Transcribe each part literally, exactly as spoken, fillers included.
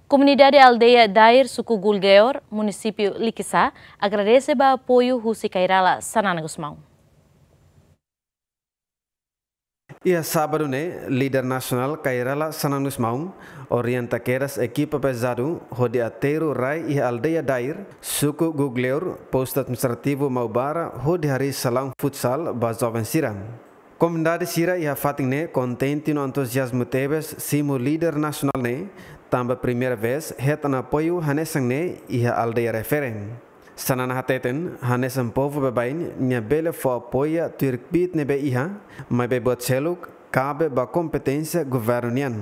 Komunidade aldeia Dair, suku Gulgeor, munisípiu Likisá, agradese ba apoiu husi Kay Rala Xanana Gusmão. Iha sábadu ne'e, líder nasionál Kay Rala Xanana Gusmão orienta kedas ekipa pezadu hodi aterru rai iha aldeia Dair, suku Gulgeor, postu administrativu Maubara, hodi harii salaun futsal ba joven sira. Komunidade sira iha fatin ne'e kontente no entuziazmu tebes simu líder nasionál ne'e, tanba primeira vez hetan apoiu hanesan ne'e iha aldeia refere. Xanana hateten, hanesan povu baibain, nia bele fó apoia tuir kbiit ne'ebé iha, maibé buat seluk kabe ba kompeténsia governu nian.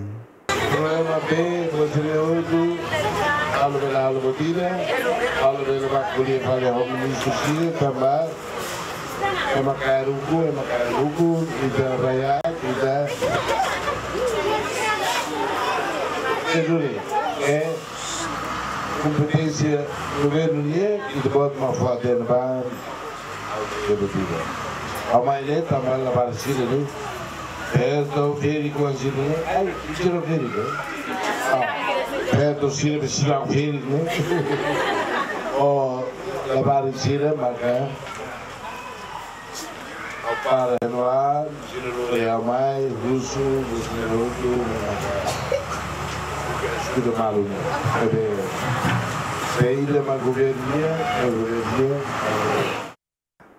Problema be, Conselho Hotu, halo bele halo buat ida, halo bele bá ko'alia fali ho ministru sira, tanba ema Kairuku, ema Kairuku, ita rakyat, ita. Ita duni, eh, kompeténsia governu nian, ita-boot mak fó atensaun ba, ita-boot ida. Ha'u mai ne'e, tanba labarik sira ne'e. Perto férias kuandu sira ne'e. Ai, sira férias ne'e. Ah, perto sira, sira férias ne'e. Oh, labarik sira maka para no ar, sira lori ha'u mai, husu, husu ne'e hotu, maka. Tudo malu ne'e. Ebe, be ida mak governu nian, be governu nian.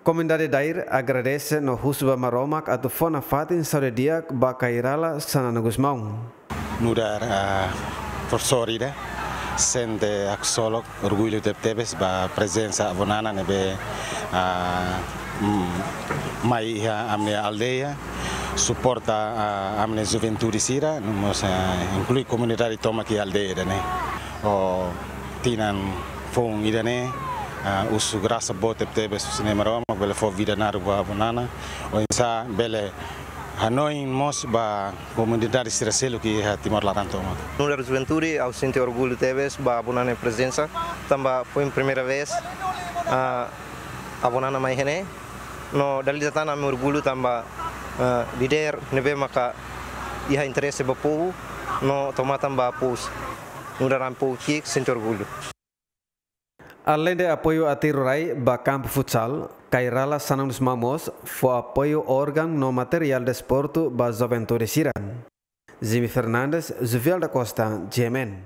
Komunidade Dair agradese no husu ba Maromak atu fó nafatin saúde di'ak ba Kay Rala Xanana Gusmão. Nu'udar, ah, profesór ida, sente haksolok, orgullu tebetebes ba prezensa avó Nana ne'ebé, ah, mm, mai iha ami-nia aldeia, suporta, ah, ami-nia juventude sira, no mós, ah, inklui komunidade tomak iha aldeia ida-ne'e. Ho tinan foun ida-ne'e, ah, husu grasa boot tebetebes husi Nai Maromak bele fó vida naruk ba avó Nana, oinsá bele hanoin mós ba komunidade sira seluk iha Timor laran tomak. Nu'udar juventude, ha'u sente orgullu tebes ba avó Nana nia prezensa, tanba foin primeira vez, ah, avó Nana mai iha ne'e. No dala ida tan ami orgullu tanba, ah, líder ne'ebé maka iha interese ba povu, no toma tan ba pous. Nu'udar ami povu ki'ik sente orgullu. Aleinde apoiu aterru rai ba kampu futsal, Kay Rala Xanana Gusmão mós fó apoiu órgaun no materiál desportu ba juventude sira. Jimmy Fernandes, Juvial da Costa, G M N.